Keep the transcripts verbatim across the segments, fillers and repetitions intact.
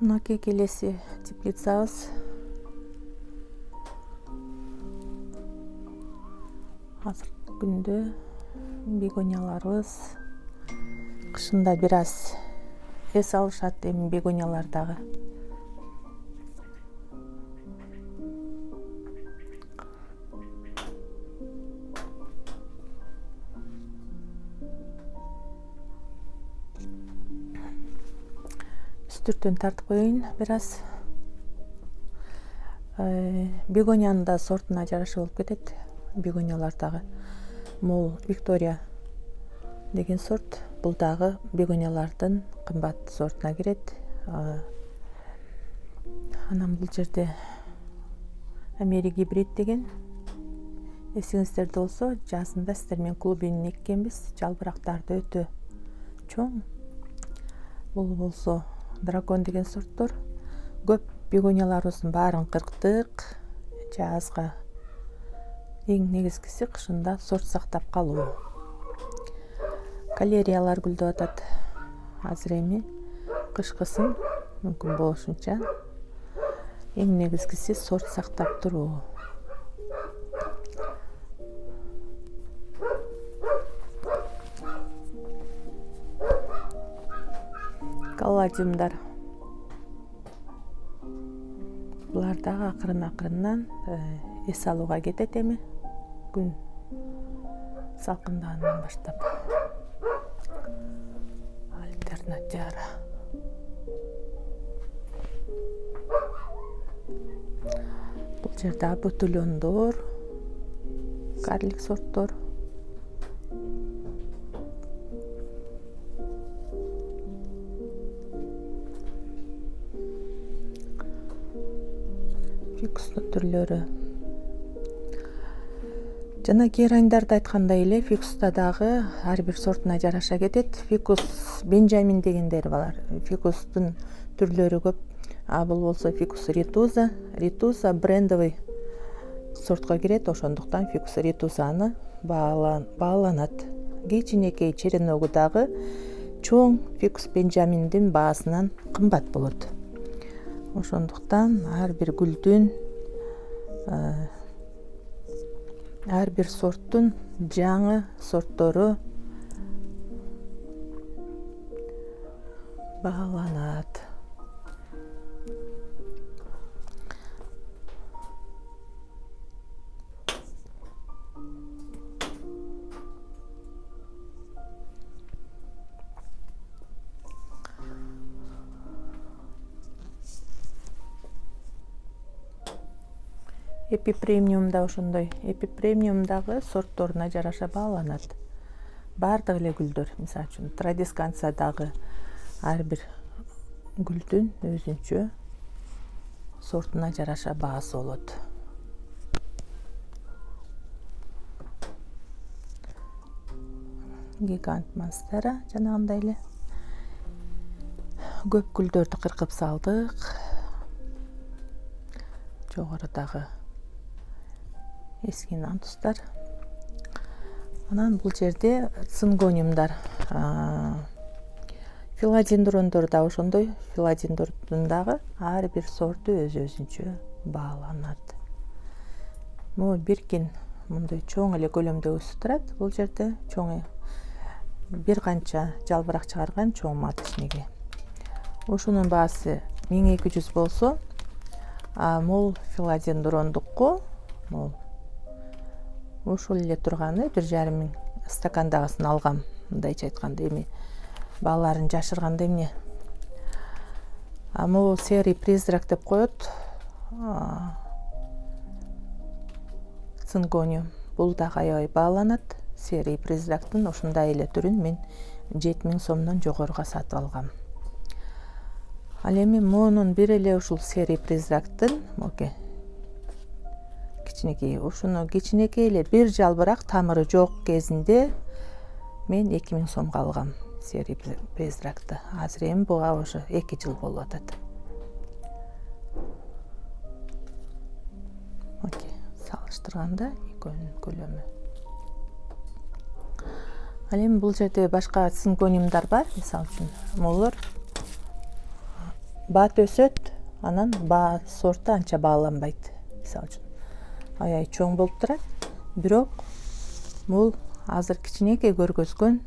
Мынакей келеси теплицабыз. Азыркы күндө бегонияларыбыз кышында бир аз эс алышат, эми бегониялар дагы. Үстүртөн тартып коеюн бир аз. Бегониянын да сортуна жараша болуп кетет. Бегониялар дагы. Могул Виктория деген сорт. Бул дагы бегониялардын кымбат сортуна кирет. Анан бул жерде Амери гибрид деген. Эсиңиздерде болсо, жазында сиздер менен клубинин эккенбиз. Жалбырактарды өтө чоң. Бул болсо дракон деген сорттор. Көп бегонияларыбыздын баарын кырктык. Жазга эң негизгиси кышында сорт сактап калуу. Калериялар гүлдөп атат. Азыр эми кышкысын мүмкүн болушунча эң негизгиси сорт сактап туруу. Калладиумдар. Булар дагы акырын-акырындан эс алууга кетет эми. Күн салкындагандан баштап. Альтернатиара. Бул жерде абутулёндор, карлик сорттор. Фикустун түрлөрү. Жана гераньдарды айткандай эле, фикуста дагы ар бир сортуна жараша кетет. Фикус Бенджамин дегендери бар. Фикустун түрлөрү көп. А бул болсо фикус ритуза. Ритуза брендовый сортко кирет, ошондуктан фикус ритузаны бааланат. Кичинекей череногу дагы чоң фикус Бенджаминдин баасынан кымбат болот. Ошондуктан ар бир гүлдүн, ар бир сорттун жаңы сорттору бааланат. Эпипремиум да ошондой. Эпипремиум дагы сортторуна жараша бааланат. Бардык эле гүлдөр, мисалы үчүн традисканция дагы ар бир гүлдүн өзүнчө сортуна жараша баасы болот. Гигант монстера жанагындай эле. Көп гүлдөрдү кыркып салдык. Жогорудагы эски нантустар. Анан бул жерде цингониумдар. Филадендрондор да ошондой. Филадендрдун дагы ар бир сорту өз-өзүнчө бааланат. Могу биркин мындай чоң эле көлөмдө өсүп турат. Бул жерде чоң бир канча жалбырак чыгарган чоң маточниги. Ошонун баасы миң эки жүз болсо, а мол филадендрондукку мол ошол эле турганы бир жарым миң. Стакандагысын алгам, мындайча айтканда, эми бааларын жашырганда эмне. А могу серый призрак деп коет. Цингониум. Бул дагы аябай бааланат. Серый призрактын ушундай эле түрүн мен жети миң сомдон жогоруга сатып алгам. Ал эми монун бир эле ушул серый призрактын, моке кичинекей, ушуну кичинекей эле бир жалбырак тамыры жок кезинде мен эки миң сомго алгам серый призракты. Азыр эми буга ошо эки жыл болуп атат. Моке салыштырганда экөөнүн көлөмү. Ал эми бул жерде башка цингониумдар бар, мисалы үчүн. Молор баат өсөт, анан баа сорту анча бааланбайт. Мисалы үчүн аябай чоң болуп турат, бирок бул азыр кичинекей көргөзгөн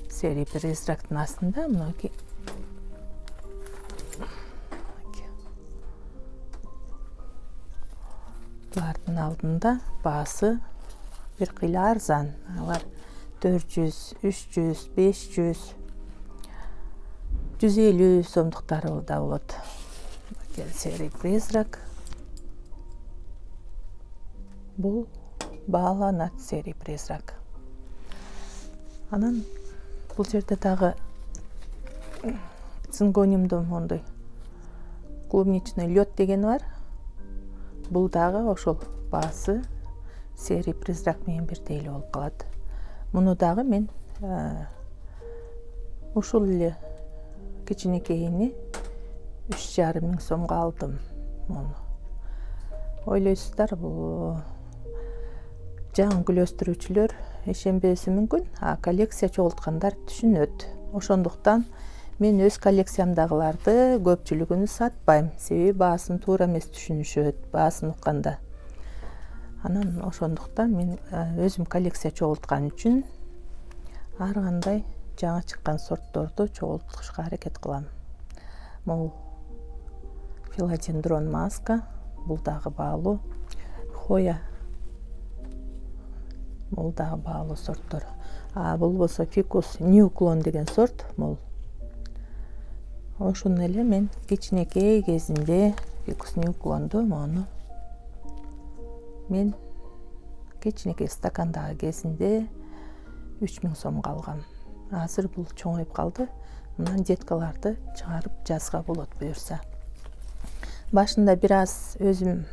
серий призрактын астында мынакей булардын алдында баасы бир кыйла арзан. Алар төрт жүз, үч жүз, беш жүз, жүз элүү сомдуктары да болот. Серий призрак. Бул бааланат серий призрак. Анан бул жерде дагы цингониумдун мондой клубничный лед дегени бар. Бул дагы ошол баасы серий призрак менен бирдей эле болуп калат. Муну дагы мен ушул эле кичинекейини үч жарым миң сомго алдым. Муну ойлойсуздар, бул жаңы күлөстүрүүчүлөр ишенбеши мүмкүн, а коллекция чогулткандар түшүнөт. Ошондуктан мен өз коллекциямдагыларды көпчүлүгүн сатпайм. Себеби баасын туура эмес түшүнүшөт, баасын укканда. Анан ошондуктан мен өзүм коллекция чогулткан үчүн ар кандай жаңы чыккан сортторду чогултушка аракет кылам. Бул филодендрон маска, бул дагы баалуу. Хоя, бул дагы баалуу сорттор. А бул болсо фикус ньюклон деген сорт. Бул ошону эле мен кичинекей кезинде фикус ньюклонду мону мен кичинекей стакандагы кезинде үч миң сомго алгам. Азыр бул чоңоюп калды. Мындан деткаларды чыгарып жазга болот буюрса. Башында бир аз өзүм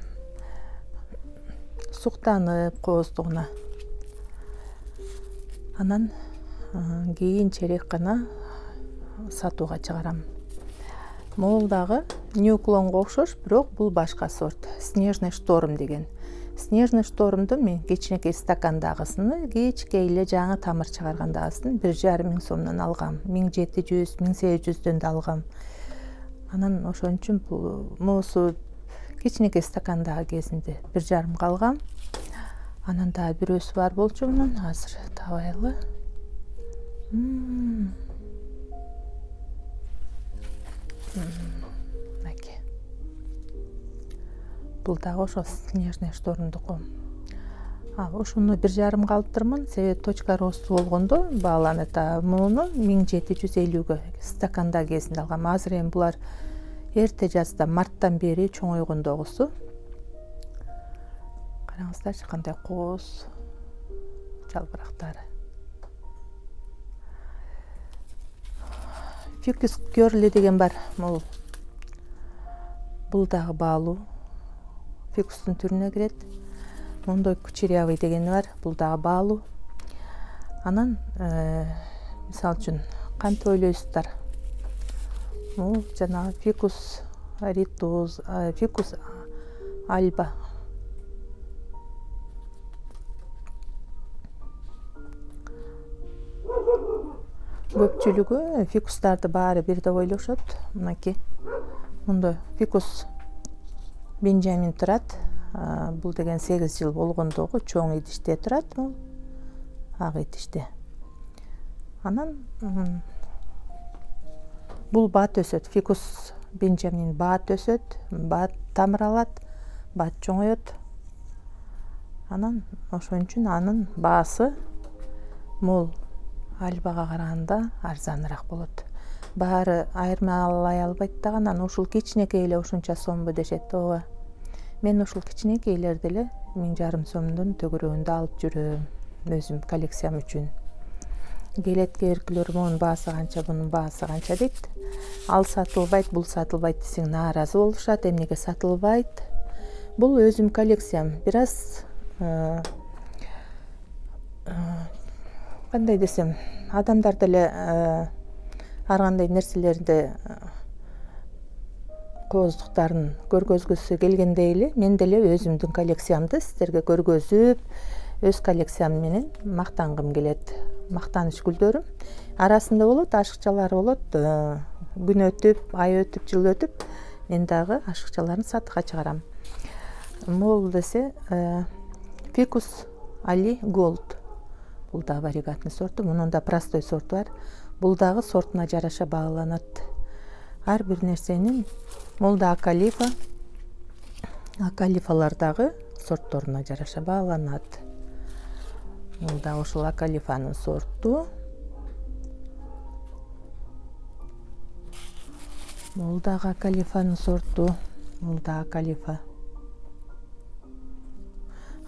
суктанып кооздугуна. Анан кийинчерээк гана сатууга чыгарам. Бул дагы ньюклонго окшош, бирок бул башка сорт. Снежный шторм деген. Снежный штормду мен кичинекей стакандагысын, кичикей эле жаңы тамыр чыгаргандагысын бир жарым миң сомдон алгам. миң жети жүз, миң сегиз жүздөн да алгам. Анан ошон үчүн бул мусу кичинекей стакандагы кезинде бир жарымга алгам. Анан дагы бирөөсү бар болчу, мунун азыр табайлы. Мынакей. Бул дагы ошо снежный штормдуку. А ошону бир жарымга алыптырмын. Себеби точка росту болгондо бааланат. Муну миң жети жүз элүүгө стаканда кезинде алгам. Азыр эми булар эрте жазда марттан бери чоңойгондогусу. Караңыздарчы кандай кооз жалбырактары. Фикус Гёрли деген бар. Бул бул дагы баалуу. Фикустун түрүнө кирет. Мондой кучерявый дегени бар. Бул дагы баалуу. Анан мисалы үчүн кантип ойлойсуздар? Бул жанагы фикус ритус, фикус альба. Көпчүлүгү фикустарды баары бир деп ойлошот. Мынакей. Мунда фикус Бенджамин турат. Бул деген сегиз жыл болгондогу чоң идиште турат. Бул ак идиште. Анан бул баат өсөт. Фикус Бенджамин баат өсөт, баат тамыр алат, баат чоңоет. Анан ошон үчүн анын баасы мол альбага караганда арзаныраак болот. Баары айырмалай албайт дагы, анан ушул кичинекей эле ушунча сомбу дешет. Ооба. Мен ушул кичинекейлерди эле миң жарым сомдун төгөрөгүндө алып жүрөм өзүм коллекциям үчүн. Келет керкилер монун баасы канча, бунун баасы канча дейт. Ал сатылбайт, бул сатылбайт десең нааразы болушат. Эмнеге сатылбайт? Бул өзүм коллекциям. Бир аз кандай десем, адамдар деле ар кандай нерселерди кооздуктарын көргөзгүсү келгендей эле мен деле өзүмдүн коллекциямды сиздерге көргөзүп, өз коллекциям менен мактангым келет. Мактаныч гүлдөрүм арасында болот, ашыкчалар болот, күн өтүп, ай өтүп, жыл өтүп, мен дагы ашыкчаларын сатыкка чыгарам. Могул десе Ficus Ali Gold. Бул да варигатный сорту, мунун да простой сорту бар. Бул дагы сортуна жараша бааланат. Ар бир нерсенин бул да акалифа, акалифалар дагы сортторуна жараша бааланат. Бул да ошол акалифанын сорту. Бул дагы акалифанын сорту, бул да акалифа.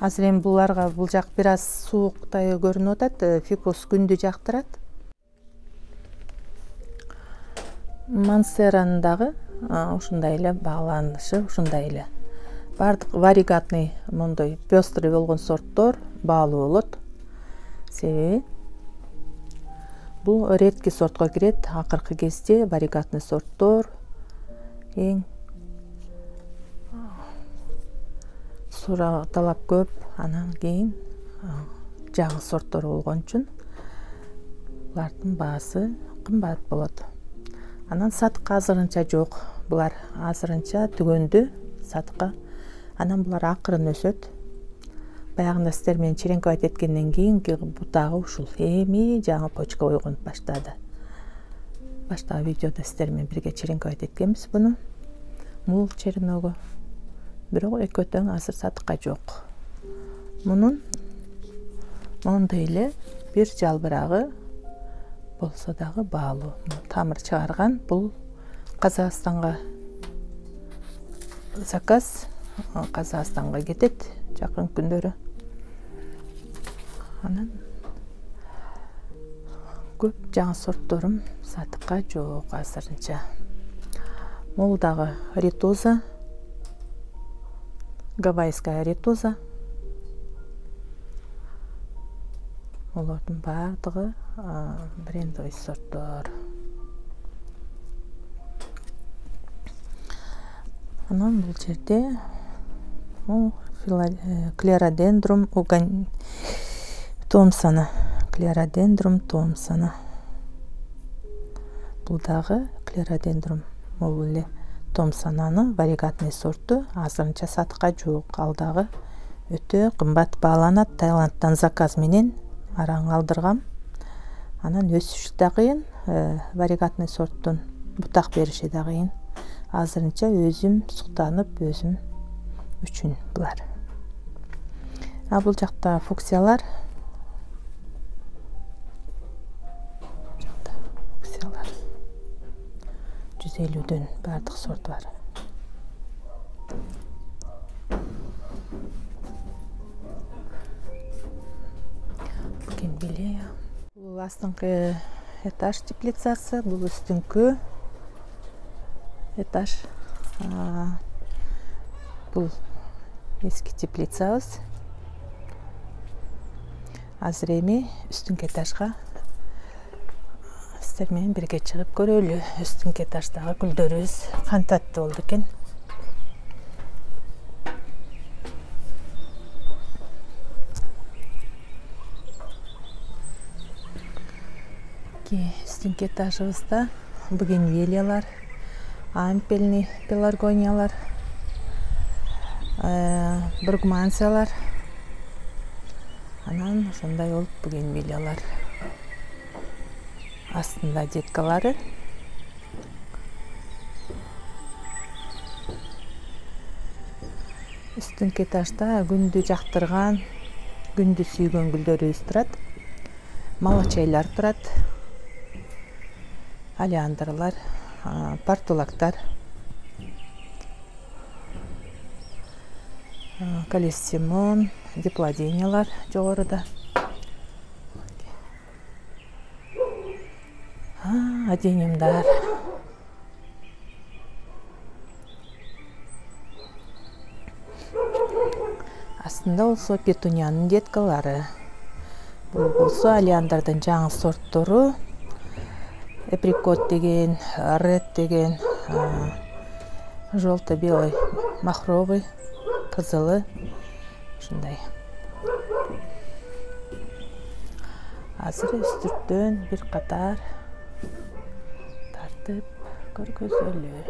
Азыр эми буларга бул жак бир аз сууктай көрүнүп атат, Ficus күндү жактырат. Мансеранын дагы ушундай эле бааланышы, ушундай эле. Бардык варигатный мондой пестрый болгон сорттор баалуу болот. Себеби бул редкий сортко кирет. Акыркы кезде варигатный сорттор эң суроо талап көп, анан кийин жаңы сорттор болгон үчүн булардын баасы кымбат болот. Анан сатыкка азырынча жок. Булар азырынча түгөндү сатыкка. Анан булар акырын өсөт. Баягында сиздер менен черенки айт эткенден кийинки бутагы ушул. Эми жаңы почка ойгонуп баштады. Баштагы видеодо сиздер менен бирге черенки айт эткенбиз буну. Мул череногу. Бирок экөө тең азыр сатыкка жок. Мунун мондой эле бир жалбырагы болсо дагы баалуу. Тамыр чыгарган. Бул Казакстанга заказ, Казакстанга кетет жакын күндөрү. Анан көп жаңы сортторум сатыкка жок азырынча. Бул дагы ритуза, гавайская ритуза. Олордун бардыгы брендовый сорттор. Анан бул жерде Клеродендрум Томпсона. Клеродендрум Томпсона. Бул дагы Клеродендрум могул эле Томпсонанын варигатный сорту, азырынча сатыкка жок. Ал дагы өтө кымбат бааланат. Таиландтан заказ менен араң алдыргам. Анан өсүшү да кыйын, варигатный сорттун бутак бериши да кыйын. Азырынча өзүм суктанып, өзүм үчүн булар. А бул жакта фуксиялар. Жакта фуксиялар. жүз элүүдөн бардык сорт бар. Бугенвиллея. Бул астыңкы этаж теплицасы, бул үстүңкү этаж. Бул эски теплицабыз. Азыр эми үстүңкү этажга сиздер менен бирге чыгып көрөлү. Үстүңкү этаждагы гүлдөрүбүз кантат болду экен. Үстүңкү этажыбызда бугенвиллиялар, ампельный пеларгониялар, бургмансиялар, анан ошондой болуп бугенвиллиялар. Астында деткалары. Үстүңкү этажда күндү жактырган, күндү сүйгөн гүлдөрүбүз турат. Малачайлар турат. Алиандрлар, портулактар, калиссимон, диплодениялар жогоруда. Адениумдар. Астында болсо петуниянын деткалары. Бул болсо алиандрдын жаңы сорттору. Эприкот деген, ред деген, желто-белый, махровый, кызылы, ушундай. Азыр үстүрттөн бир катар тартып көргөзөлү.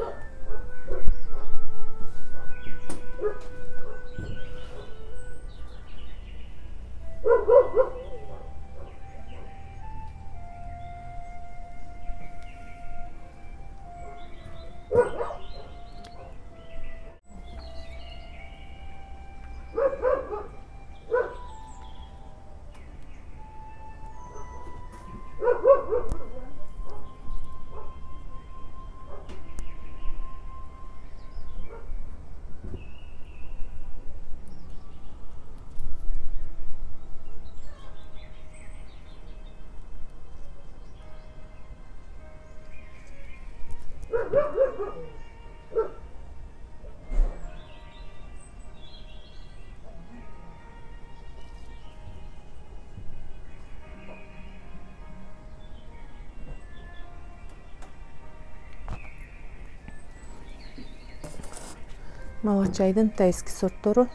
Малачайдын тайский сорттору.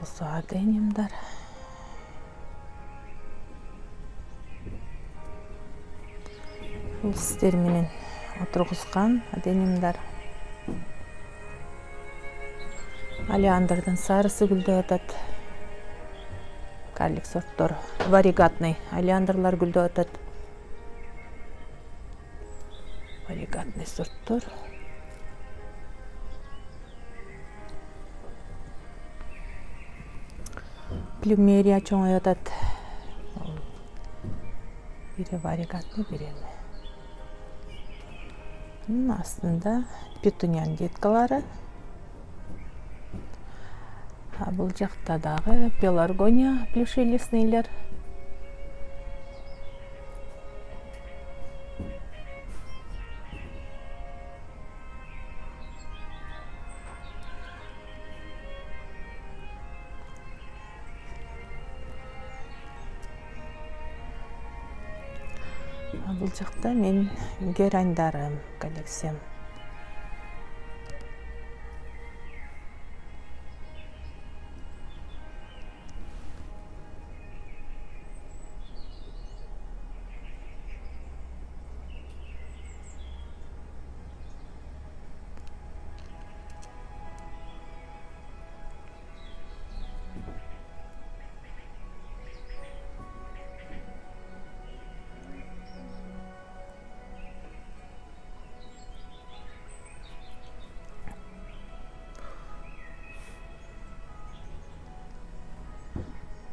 Осы адениумдар. Бул сиздер менен отургузган адениумдар. Алиандрдын сарысы гүлдөп атат. Карлик сорттор. Варигатный алиандрлар гүлдөп атат. Варигатный сорттор. Плюмерия чоңоюп атат. Бири варигатный, бири эме. Астында петуниян деткалары. А бул жакта дагы пеларгония плюшелистныйлер. Бул жакта мен гераньдарым коллекциям.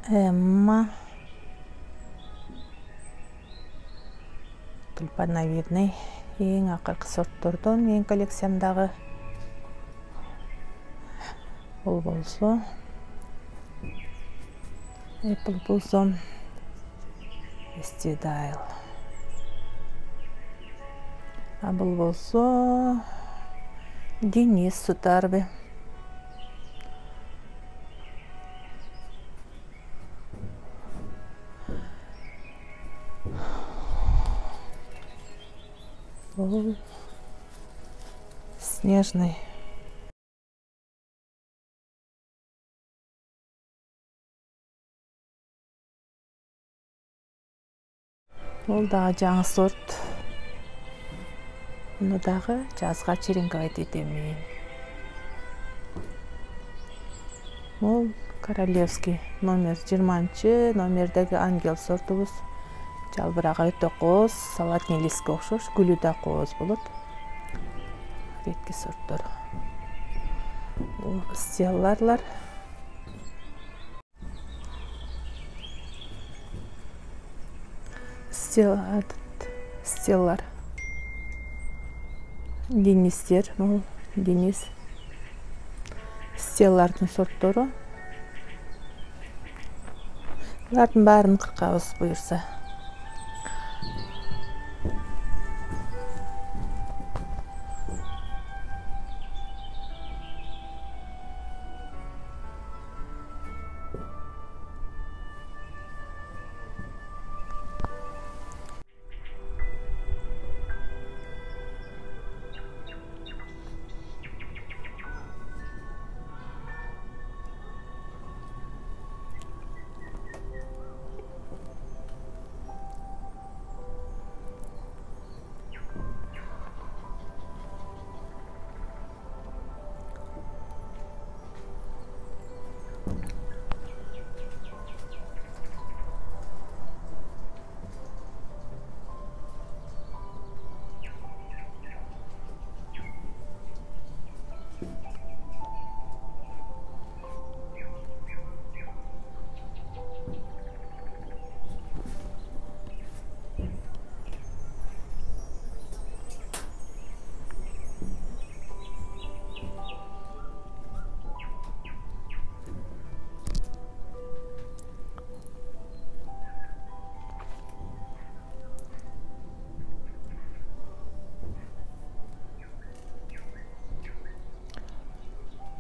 Эмма тюльпановидный эң акыркы сорттордон менин коллекциямдагы. Бул болсо Apple Blossom Estidile. А бул болсо Денис Сутарби. Бул снежный. Бул дагы жаңы сорт. Муну дагы жазга черенковать этем мен. Бул королевский номер жыйырманчы номердеги ангел сортубуз. Жалбырагы өтө кооз, салатный листке окшош, гүлү да кооз болот. Редкий сорттор. Бул стелларлар. Стеллар. Денистер, бул Денис. Стеллардын сорттору. Булардын баарын кыркабыз буюрса.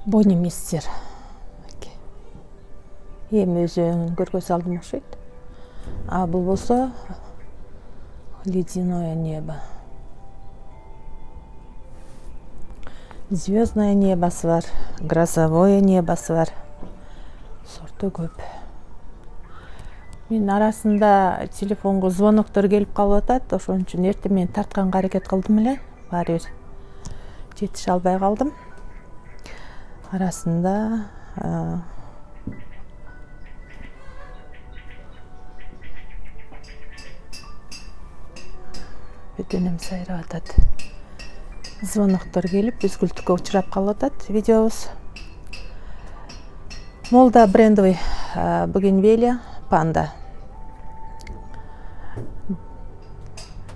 Бони мистер. Эми өзүн көргө салдым окшойт. А бул болсо ледяное небо. Звездное небосы бар, грозовое небосы бар. Сорту көп. Мен арасында телефонго звоноктор келип калып атат, ошон үчүн эртең мен тартканга аракет кылдым эле. Баары бир жетише албай калдым. Арасында бөтөнөм сайрап атат. Звоноктор келип, үзгүлтүккө учурап калып атат видеобуз. Молда брендовый бугенвилия панда.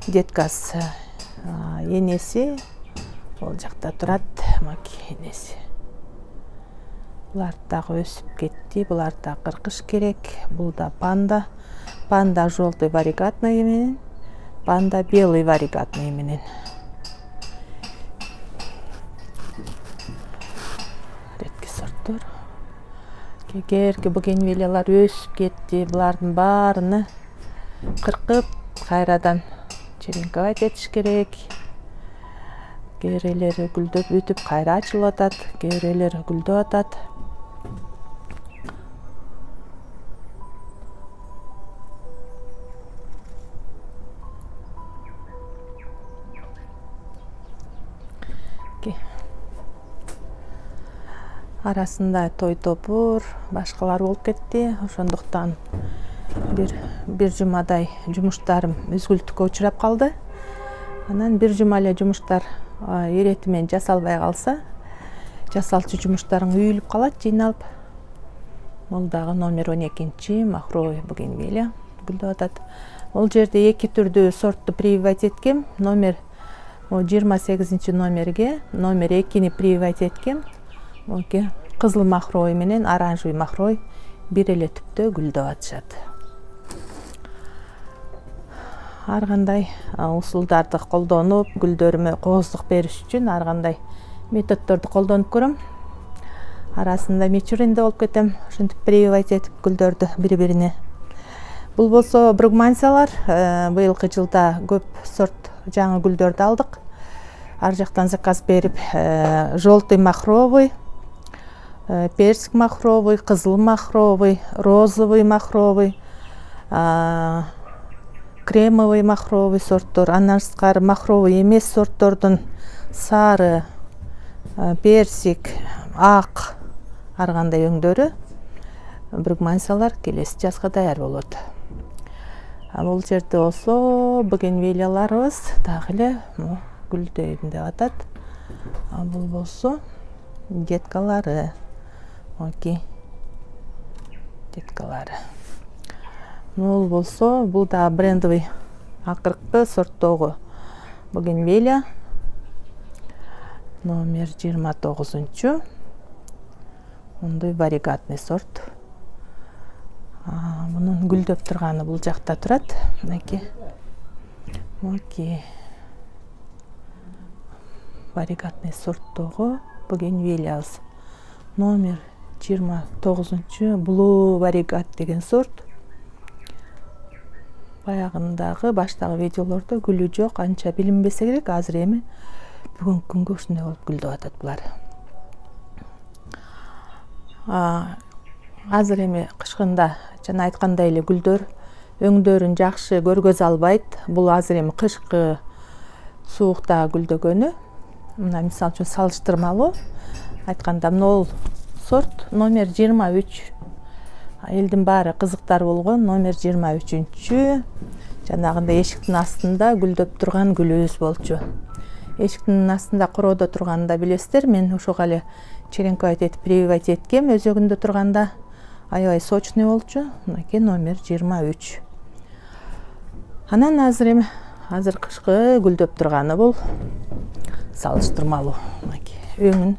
Деткасы энеси ол жакта турат, маки энеси. Булар дагы өсүп кетти, булар да кыркыш керек. Бул да панда. Панда желтый варигатный менен, панда белый варигатный менен. Редкий сорттор. Кегерки бугенвилиялар өсүп кетти, булардын баарыны кыркып, кайрадан черенковать этиш керек. Кээ гүлдөп бүтүп, кайра ачылып атат, кээ гүлдөп атат. Арасында той топур, башкалар болуп кетти. Ошондуктан бир бир жумадай жумуштарым үзгүлтүккө учурап калды. Анан бир жума эле жумуштар ирети менен жасалбай калса, жасалчу жумуштарың үйүлүп калат, жыйналып. Бул дагы номер он экинчи махровый бугенвилия гүлдөп атат. Ол жерде эки түрдүү сортту прививать эткем. Номер жыйырма сегизинчи номерге номер экини прививать эткем. Кызыл махровый менен оранжевый махровый бир эле түптө гүлдөп атышат. Ар кандай усулдарды колдонуп, гүлдөрүмө кооздук бериш үчүн ар кандай методдорду колдонуп көрөм. Арасында мичуринде болуп кетем, ошентип прививать этип гүлдөрдү бири-бирине. Бул болсо бругмансиялар. Быйылкы жылда көп сорт жаңы гүлдөрдү алдык. Ар жактан заказ берип, желтый махровый, персик махровый, кызыл махровый, розовый махровый, кремовый махровый сорттор, андан сырткары махровый эмес сорттордун сары, персик, ак ар кандай өңдөрү бругмансиялар келесі жазга даяр болот. Бул жерде болсо бугенвилияларыбыз дагы эле гүлдөйм деп атат. Бул болсо деткалары. Окей. Деткалары. Бул болсо бул да брендовый акыркы сорттогу бугенвилия. Номер жыйырма тогузунчу. Мындай варигатный сорт. Мунун гүлдөп турганы бул жакта турат. Мынакей. Окей. Варигатный сорттогу бугенвилиябыз. Номер жыйырма тогузунчу Blue Varigat деген сорт. Баягындагы баштагы видеолордо гүлү жок, анча билинбесе керек. Азыр эми бүгүнкү күнгө ушундай болуп гүлдөп атат булар. Азыр эми кышкында жана айткандай эле гүлдөр өңдөрүн жакшы көргөзө албайт. Бул азыр эми кышкы суукта гүлдөгөнү. Мына мисалы үчүн салыштырмалуу айтканда могул сорт номер жыйырма үч. Элдин баары кызыктар болгон номер жыйырма үчүнчү. Жанагындай эшиктин астында гүлдөп турган гүлүбүз болчу. Эшиктин астында короодо турганда билесиздер, мен ошого эле черенковать этип прививать эткем өзөгүндө турганда. Аябай сочный болчу. Мынакей номер жыйырма үч. Анан азыр эми азыр кышкы гүлдөп турганы бул салыштырмалуу. Мынакей өңүн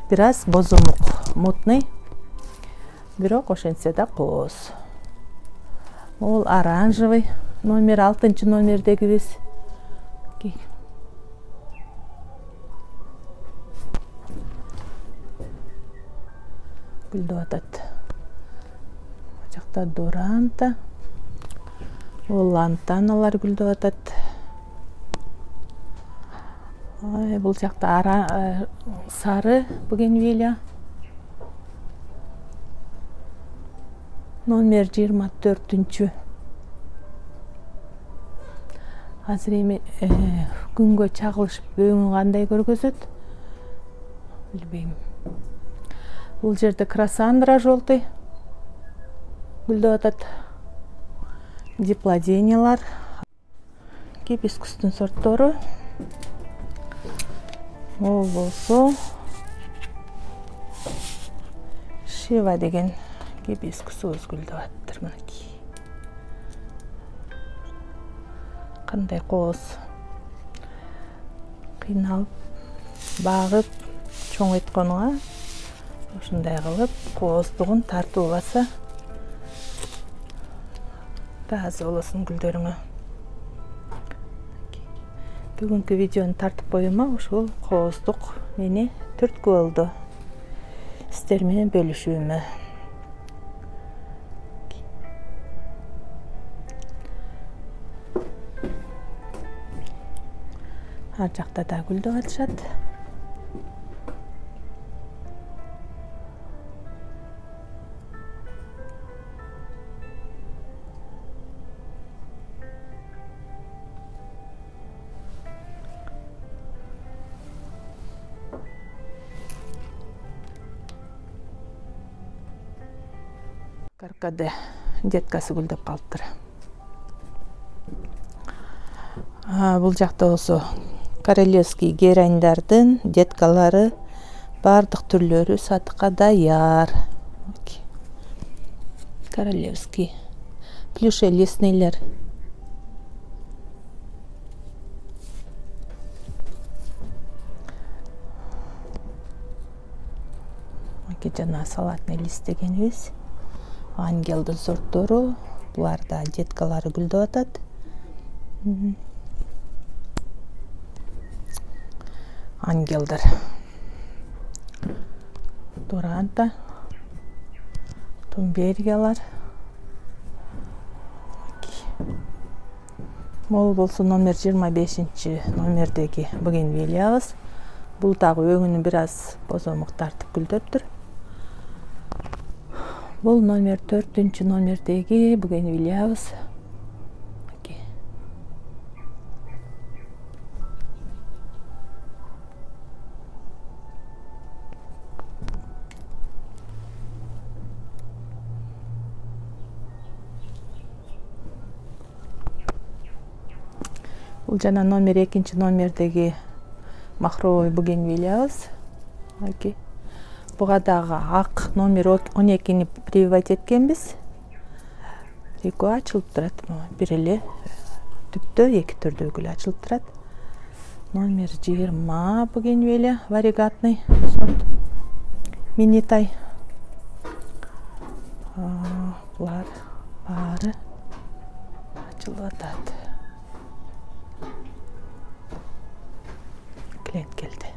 бир аз бозомук, мутный. Бирок ошентсе да кооз. Ол оранжевый номер алтынчы номердегибиз. гүлдөп атат. Бул жакта дуранта, бул лантаналар гүлдөп атат. Бул жакта ара сары бугенвилия. Номер жыйырма төртүнчү. Азыр эми күнгө чагылышып өңү кандай көргөзөт? Билбейм. Бул жерде красандра желтый гүлдөп атат. Диплодениялар, гибискустун сорттору. Ол болсо Шива деген гибискусубуз гүлдөп аттыр. Мынакей. Кандай кооз. Кыйналып, багып, чоңойтконуга ушундай кылып кооздугун тартып алса тааза болосуң гүлдөрүңө. Бүгүнкү видеону тартып коюма ушул кооздук мени түрткү болду. Сиздер менен бөлүшүүмө. Ар жакта да гүлдөп атышат. Каркаде деткасы гүлдөп калыптыр. Бул жакта болсо королевский герандардын деткалары бардык түрлөрү сатыкка даяр. Королевский плюше леснейлер. Мынакей жана салатный лист дегенибиз. Ангелдин сорттору, буларда деткалары гүлдөп атат. Ангелдер. Дуранта, тумбергиялар. Могул болсо номер жыйырма бешинчи номердеги бугенвилиябыз. Бул дагы өңүнү бир аз бозомук тартып гүлдөптүр. Бул номер төртүнчү номердеги бугенвилиябыз. Бул жана номер экинчи номердеги махровый бугенвилиябыз. Буга дагы ак номер он экини прививать эткенбиз. Экөө ачылып турат. Бир эле түптө эки түрдүү гүл ачылып турат. Номер жыйырма бугенвилия варигатный сорт. Минитай. Булар баары ачылып атат. Клиент келди.